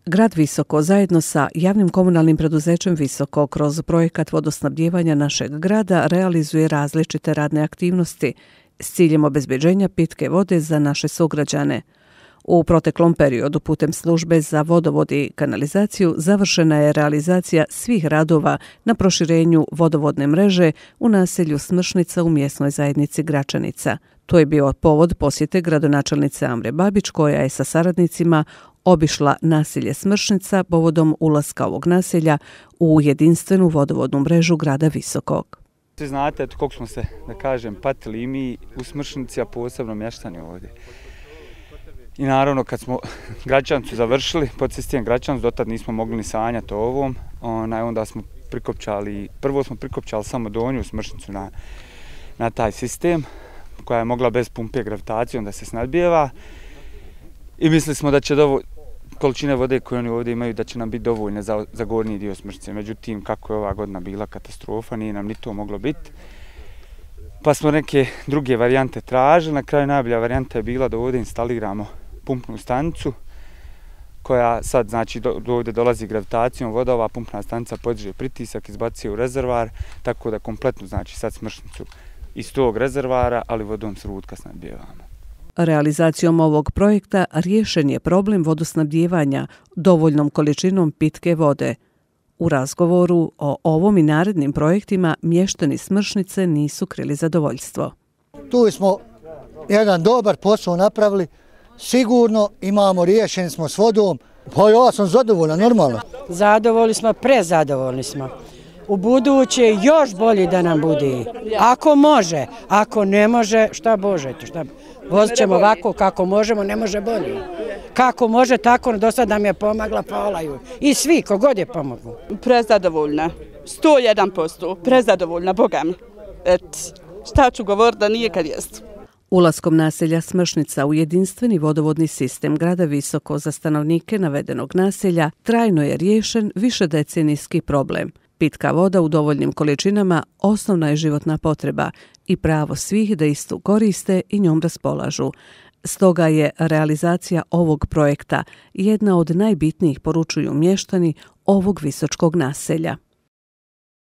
Grad Visoko zajedno sa javnim komunalnim preduzećem Visoko kroz projekat vodosnabdijevanja našeg grada realizuje različite radne aktivnosti s ciljem obezbeđenja pitke vode za naše sugrađane. U proteklom periodu putem službe za vodovod i kanalizaciju završena je realizacija svih radova na proširenju vodovodne mreže u naselju Smršnica u mjesnoj zajednici Gračanica. To je bio povod posjete gradonačelnice Amre Babić koja je sa saradnicima obišla naselje Smršnica povodom ulaska ovog naselja u jedinstvenu vodovodnu mrežu grada Visokog. Svi znate koliko smo se, da kažem, patili i mi u Smršnici, a posebno mještani ovdje. I naravno kad smo Gračancu završili, pod sistem Gračancu, dotad nismo mogli ni sanjati o ovom, onda smo prvo smo prikopčali samo donju Smršnicu na taj sistem, koja je mogla bez pumpe gravitacijom da se snadbijeva. I mislili smo da će količine vode koje oni ovdje imaju da će nam biti dovoljne za gornji dio Smršnice. Međutim, kako je ova godina bila katastrofa, nije nam ni to moglo biti. Pa smo neke druge varijante tražili. Na kraju najbolja varijanta je bila da ovdje instaliramo pumpnu stanicu koja sad, znači, ovdje dolazi gravitacijom voda, ova pumpna stanica podiže pritisak, izbacuje u rezervar, tako da kompletno, znači, sad Smršnicu iz tog rezervara, ali vodom s rutka snadbijevamo. Realizacijom ovog projekta riješen je problem vodosnabdijevanja dovoljnom količinom pitke vode. U razgovoru o ovom i narednim projektima mještani Smršnice nisu krili zadovoljstvo. Tu smo jedan dobar posao napravili, sigurno imamo, riješeni smo s vodom. Pa ja sam zadovoljan, normalno. Zadovoljni smo, prezadovoljni smo. U buduće još bolje da nam bude. Ako može, ako ne može, šta Bože, vozit ćemo ovako kako možemo, ne može bolje. Kako može, tako do sad nam je pomagla, polaju. I svi, kogod je pomogao. Prezadovoljna, 101%, prezadovoljna, Boga mi. Šta ću govoriti da nije kad jest. Ulaskom naselja Smršnica u jedinstveni vodovodni sistem grada Visoko za stanovnike navedenog naselja trajno je riješen višedecenijski problem. Pitka voda u dovoljnim količinama osnovna je životna potreba i pravo svih da istu koriste i njom raspolažu. Stoga je realizacija ovog projekta jedna od najbitnijih, poručuju mještani ovog visočkog naselja.